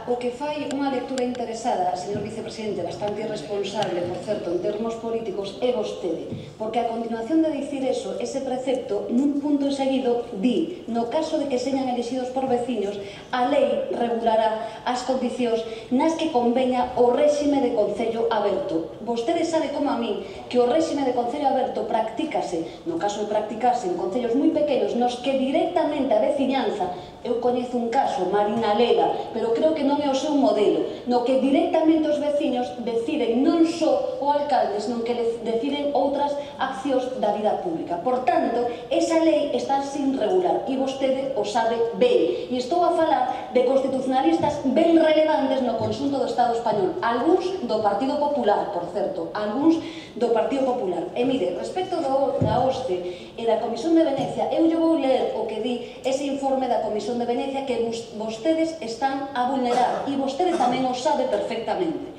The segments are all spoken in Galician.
o que fai unha lectura interesada, señor vicepresidente, bastante irresponsable, por certo, en termos políticos, é vostede, porque a continuación de dicir eso, ese precepto, nun punto seguido, di, no caso de que señan elixidos por veciños, a lei regulará as condicións nas que conveña o réxime de concello aberto. Vostede sabe como a min que o réxime de concello aberto practícase, no caso de practicarse en concellos moi pequenos, nos que directamente a veciñanza, eu coñezo un caso, Marina Leda, pero creo que non é o seu modelo, no que directamente os veciños deciden non só o alcalde, senón que deciden outras accións da vida pública. Por tanto, esa lei está sin regular e vostede o sabe ben. E estou a falar de constitucionalistas ben relevantes no conxunto do Estado español, algúns do Partido Popular, por certo, algúns do Partido Popular. E mire, respecto da OSCE e da Comisión de Venecia, eu lle vou ler o que di ese informe da Comisión de Venecia que vostedes están a vulnerar e vostede tamén o sabe perfectamente.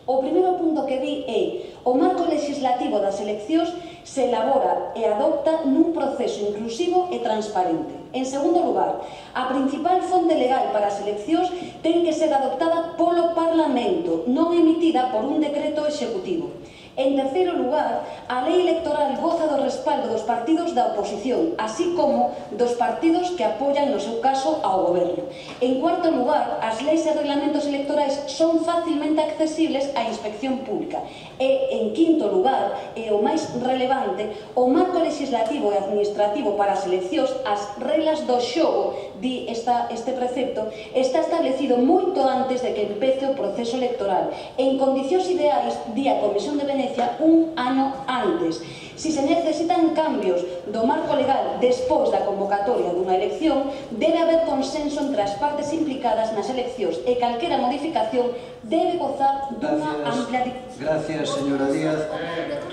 O primeiro punto que di é o marco legislativo das eleccións se elabora e adopta nun proceso inclusivo e transparente. En segundo lugar, a principal fonte legal para as eleccións ten que ser adoptada polo Parlamento, non emitida por un decreto executivo. En terceiro lugar, a lei electoral goza do respaldo dos partidos da oposición, así como dos partidos que apoian, no seu caso, ao goberno. En cuarto lugar, as leis e reglamentos electorais son facilmente accesibles á inspección pública. E, en quinto lugar, e o máis relevante, o marco legislativo e administrativo para as eleccións, as reglas do xogo, di este precepto, está establecido moito antes de que empece o proceso electoral. En condicións ideais, di a Comisión de Venecia, un ano antes. Si se necesitan cambios do marco legal despois da convocatoria dunha elección, debe haber consenso entre as partes implicadas nas eleccións e calquera modificación debe gozar dunha amplia... Gracias, señora Díaz.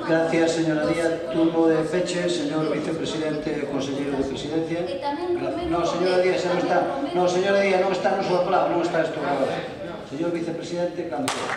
Gracias, señora Díaz. Turno de feche, señor vicepresidente e conselleiro de Presidencia. No, señora Díaz, non está. No, señora Díaz, non está no súa palabra, non está isto grabado. Señor vicepresidente, cando queira.